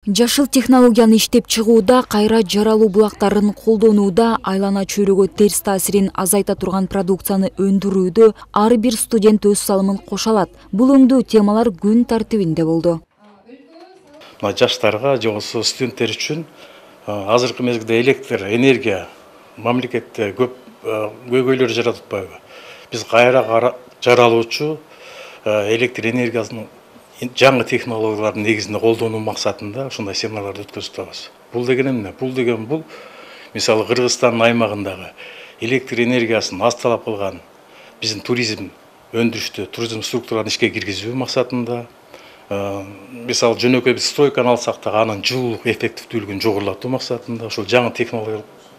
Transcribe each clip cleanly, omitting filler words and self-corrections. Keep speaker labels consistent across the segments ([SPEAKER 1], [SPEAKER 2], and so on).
[SPEAKER 1] Жашыл технологияны иштеп чыгууда, кайра жаралуу булактарын колдонууда, айлана чөйрөгө терс таасирин азайта турган продукцияны өндүрүүдө ар бир студент өз салымын кошо алат. Бул өңдүү темалар күн тартибинде болду.
[SPEAKER 2] Жаштарга же болбосо студенттер үчүн азыркы мезгилде электр энергия мамлекетте көп көйгөйлөр жаратып атпайбы? Биз кайра жаралуучу электр энергиясын жаңы технологиялардын негизинде колдонуу максатында ушундай семинарларды өткөзүп атабыз. Бул деген эмне? Бул мисалы Кыргызстандын аймагындагы электр энергиясын аз талап кылган биздин туризм өндүрүштү, туризм структураларын ишке киргизүү максатында, мисалы жөнөкөй биз стройканы алсак да анын жылуулук эффективдүүлүгүн жогорулатуу максатында ошол жаңы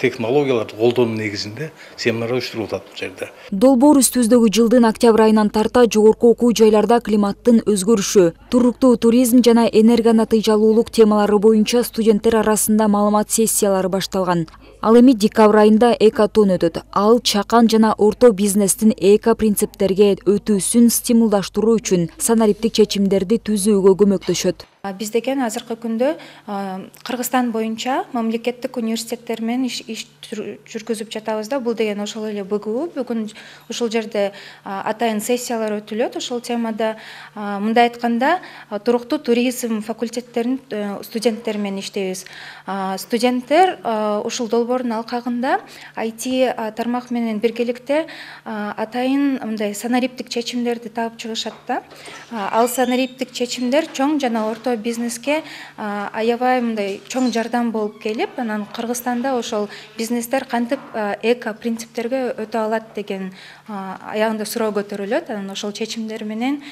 [SPEAKER 2] технологияларды колдонуу негизинде семинар уюштурулуп атат бул жерде.
[SPEAKER 1] Долбоор үстүбүздөгү жылдын октябрь айынан тарта жогорку окуу жайларда климаттын өзгөрүшү, туруктуу туризм жана энергонатыйжалуулук темалары боюнча студенттер арасында маалымат сессиялары башталган. Ал эми декабрь айында экотон өтөт. Ал чакан жана орто бизнестин эко принциптерге өтүүсүн стимулдаштыруу үчүн санариптик чечимдерди түзүүгө көмөктөшөт.
[SPEAKER 3] Биз деген азыркы күндө Кыргызстан боюнча мамлекеттик университеттер менен иш жүргүзүп жатабыз да. Бул деген ошол эле БГУ. Бүгүн ушул жерде атайын сессиялар өтүлөт. Ошол темада мындай айтканда туруктуу туризм факультеттеринин студенттери менен иштейбиз. Студенттер ушул долбоордун алкагында IT тармак менен биргеликте атайын мындай санариптик чечимдерди таап чыгышат да. Ал санариптик чечимдер чоң жана орто бизнеске аябай мындай чоң жардам болуп келип, анан Кыргызстанда ошол бизнестер кантип эко принциптерге өтө алат деген аягында суроо көтөрүлөт. Анан ошол чечимдер менен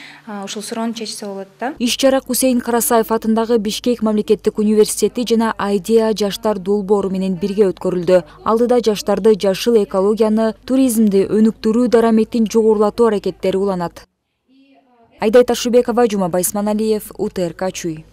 [SPEAKER 3] ушул суроону чечсе болот да.
[SPEAKER 1] Иш-чара Кусейин Карасаев атындагы Бишкек мамлекеттик университети жана Айдеа жаштар долбоору менен бирге өткөрүлдү. Алдыда жаштарды жашыл экологияны, туризмди өнүктүрүү дараметин жогорулатуу аракеттери уланат. Айдай Ташыбекова, Жумабай Исманалиев, УТРК Чүй.